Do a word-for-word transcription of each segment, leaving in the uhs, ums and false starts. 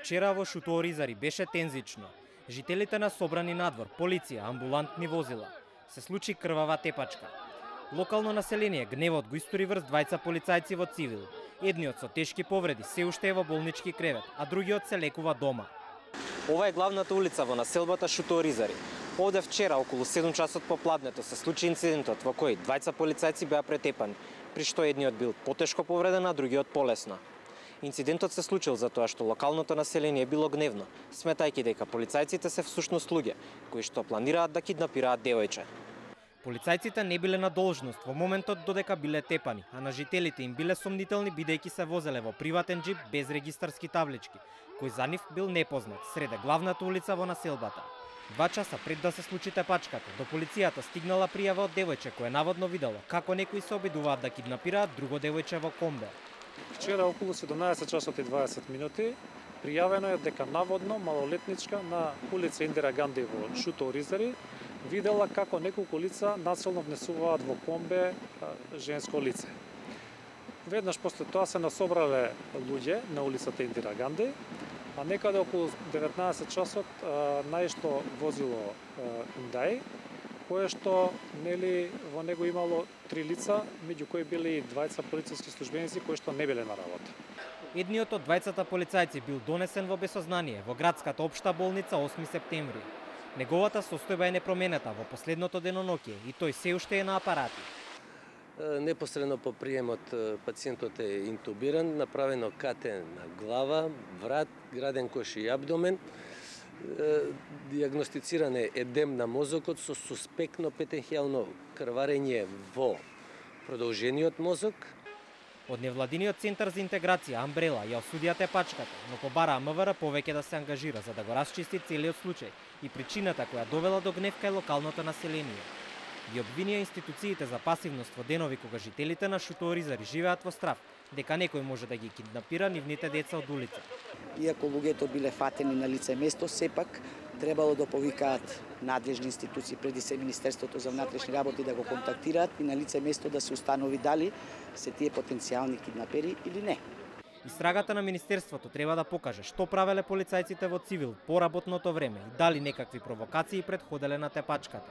вчера во Шутооризари беше тензично. Жителите на собрани надвор, полиција, амбулантни возила. Се случи крвава тепачка. Локално население гневот го истори врз двајца полицајци во цивил. Едниот со тешки повреди се уште е во болнички кревет, а другиот се лекува дома. Ова е главната улица во населбата Шутооризари. Овде вчера околу седум часот попладнето се случи инцидентот во кој двајца полицајци беа претепани, при што едниот бил потешко повреден, а другиот полесно. Инцидентот се случил затоа што локалното население било гневно, сметајќи дека полицајците се всушност луѓе кои што планираат да киднапираат девојче. Полицајците не биле на должност во моментот додека биле тепани, а на жителите им биле сомнителни бидејќи се возеле во приватен џип без регистарски таблички, кој за нив бил непознат среде главната улица во населбата. Два часа пред да се случи тепачката, до полицијата стигнала пријава од девојче кој наводно видело како некои се обидуваат да киднапираат друго девојче во комбе. Вчера околу седумнаесет часот и дваесет минути пријавено е дека наводно малолетничка на улица Индира Ганди во Шутооризари видела како неколку лица насилно внесуваат во комбе женско лице. Веднаш после тоа се насобрале луѓе на улицата Индира Ганди, а некаде околу деветнаесет часот наишло возило Hyundai, кое што нели во него имало три лица, меѓу кои били и двајца полициски службеници кои што не биле на работа. Едниот од двајцата полицајци бил донесен во безсознание во градската општа болница осми септември. Неговата состојба е непроменета во последното деноноќе и тој се уште е на апарати. Непосредно по приемот пациентот е интубиран, направено КТ на глава, врат, граден кош и абдомен. Диагностициран е едем на мозокот со суспектно петенхијално крварење во продолжениот мозок. Од невладиниот центар за интеграција Амбрела ја осудија тепачката, но побараа МВР повеќе да се ангажира за да го расчисти целиот случај и причината која довела до гнев кај локалното население. Ги обвинија институциите за пасивност во денови кога жителите на Шутооризари живеат во страв, дека некој може да ги киднапира нивните деца од улица. Иако луѓето биле фатени на лице место, сепак требало да повикаат надлежни институции, преди се Министерството за внатрешни работи да го контактираат и на лице место да се установи дали се тие потенцијални киднапери или не. Истрагата на Министерството треба да покаже што правеле полицајците во цивил по работното време и дали некакви провокации предходеле на тепачката.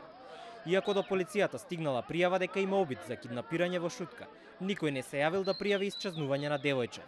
Иако до полицијата стигнала пријава дека има обид за киднапирање во Шутка, никој не се јавил да пријави исчезнување на девојче.